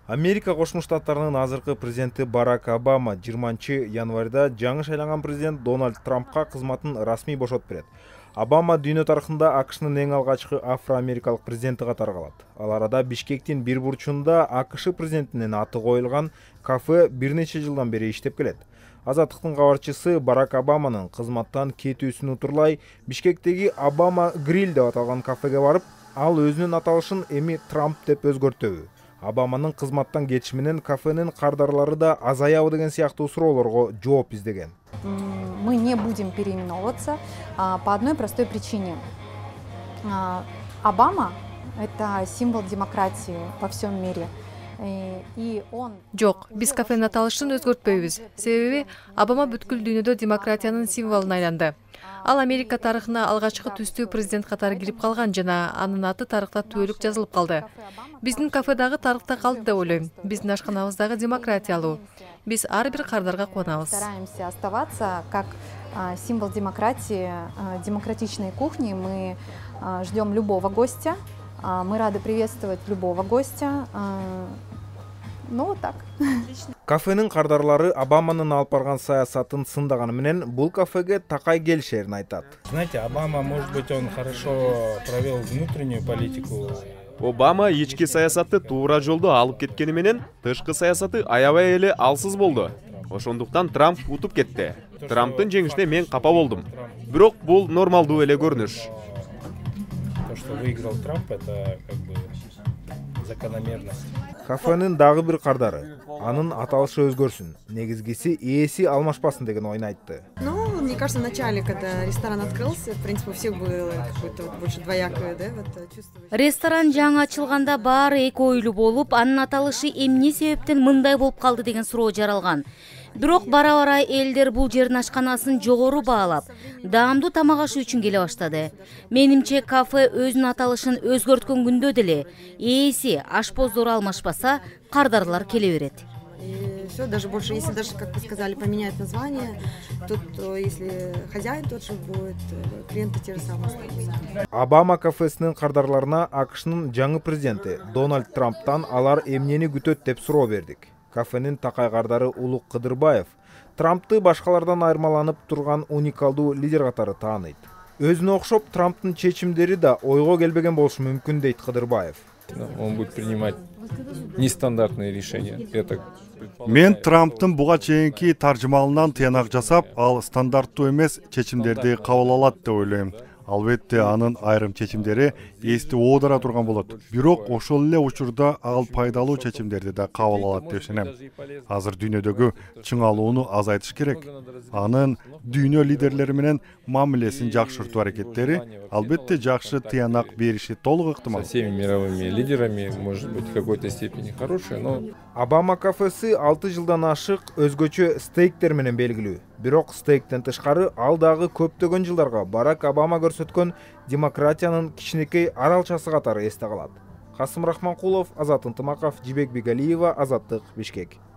Америка Кошмо Штаттарынын азыркы президенти Барак Обама 20-январда жаңы шайланган президент Дональд Трампка кызматын расмий бошотуп берет. Обама дүйнө тарыхында АКШнын эң алгачкы афро-америкалык президенти катары калат. Ал арада Бишкектин бир бурчунда АКШ президентинин аты коюлган кафе бир нече жылдан бери иштеп келет. Азаттыктын кабарчысы Барак Обаманын кызматтан кетүүсүн утурлай Бишкектеги Обама Гриль деп аталган кафеге барып, ал өзүнүн аталышын эми Трамп деп өзгөртөбү? Обаманын кызматтан кетиши менен кафенин кардарлары да азаябы деген сыяктуу суроолорго жооп издеген. Мы не будем переименовываться по одной простой причине. Обама – это символ демократии во всем мире. Жок, биз кафенин аталышын өзгөртпөйбүз. Себеби Обама бүткүл дүйнөдө демократиянын символуна айланды. Ал Америка тарыхына алгачкы түстүү президент катары кирип калган жана анын аты тарыхта түбөлүк жазылып калды. Биздин кафе дагы тарыхта калды деп ойлойм. Биздин ашканабыз дагы демократиялуу. Биз ар бир кардарга кубанабыз. Стараемся оставаться как символ демократии, демократичной кухни. Мы ждем любого гостя. Мы рады приветствовать любого гостя. Ну вот так. Кафенин кардарлары Обаманын алып барган саясатын сындаганы менен бул кафеге такай келишерин айтат. Знаете, Обама, может быть, он хорошо провел внутреннюю политику. Обама ички саясатты туура жолдо алып кеткени менен тышкы саясаты аябай эле алсыз болду. Ошондуктан Трамп утуп кетти. Трамптын жеңишине мен капа болдум. Бирок бул нормалдуу эле көрүнүш. То, что выиграл Трамп, это как бы закономерность. Кафенин дагы бир кардары. Анын аталышы өзгөрсүн. Негизгиси ээси алмашпасын деген ойун айтты. Ну, мне кажется, в начале, когда ресторан открылся, в принципе, у всех было какое-то больше двоякое, да, вот чувство. Ресторан жаңы ачылганда баары эки ойлуу болуп, анын аталышы эмне себептен мындай болуп калды деген суроо жаралган. Бирок бара-бара элдер бул жердин ашканасын жогору баалап, даамдуу тамак ашы үчүн келе баштады. Менимче кафе өзүнүн аталышын өзгөрткөн күндө деле ээси, ашпоздор алмашпаса, кардарлар келе берет. И все, даже больше, если даже, как вы сказали, поменять название, тут, если хозяин тот же будет, клиенты те же самые останутся. Обама кафесинин кардарларына АКШнын жаңы президенти Дональд Трамптан алар эмнени күтөт деп суроо бердик. Кафенин такай кардары Улук Кыдырбаев Трампты башкалардан айырмаланып турган уникалдуу лидер катары тааныйт. Өзүнө окшоп Трамптын чечимдери да ойго келбеген болушу мүмкүн дейт Кыдырбаев. Он будет принимать нестандартные решения. Мен Трамптын буга чейинки таржымалынан тыянак жасап, ал стандарттуу эмес чечимдерди кабыл алат деп ойлойм. Албетте анын айрым чечимдери эсти оодара турган болот. Бирок ошол эле учурда ал пайдалуу чечимдерди да кабыл алат деп ишенем. Азыр дүйнөдөгү чыңалууну азайтыш керек. Анын дүйнө лидерлери менен мамилесин жакшыртуу аракеттери албетте жакшы тыянак бериши толук ыктымал. Со всеми мировыми лидерами, может быть, в какой-то степени хорошая, но Обама кафеси 6 жылдан ашык өзгөчө стейктер менен белгилүү. Бирок стейктен тышкары ал дагы көптөгөн жылдарга Барак Обама көрсөткөн демократиянын кичинекей аралчасы катары эсте калат. Касым Рахманкулов, Азат Ынтымаков, Жибек Бигалиева, Азаттык, Бишкек.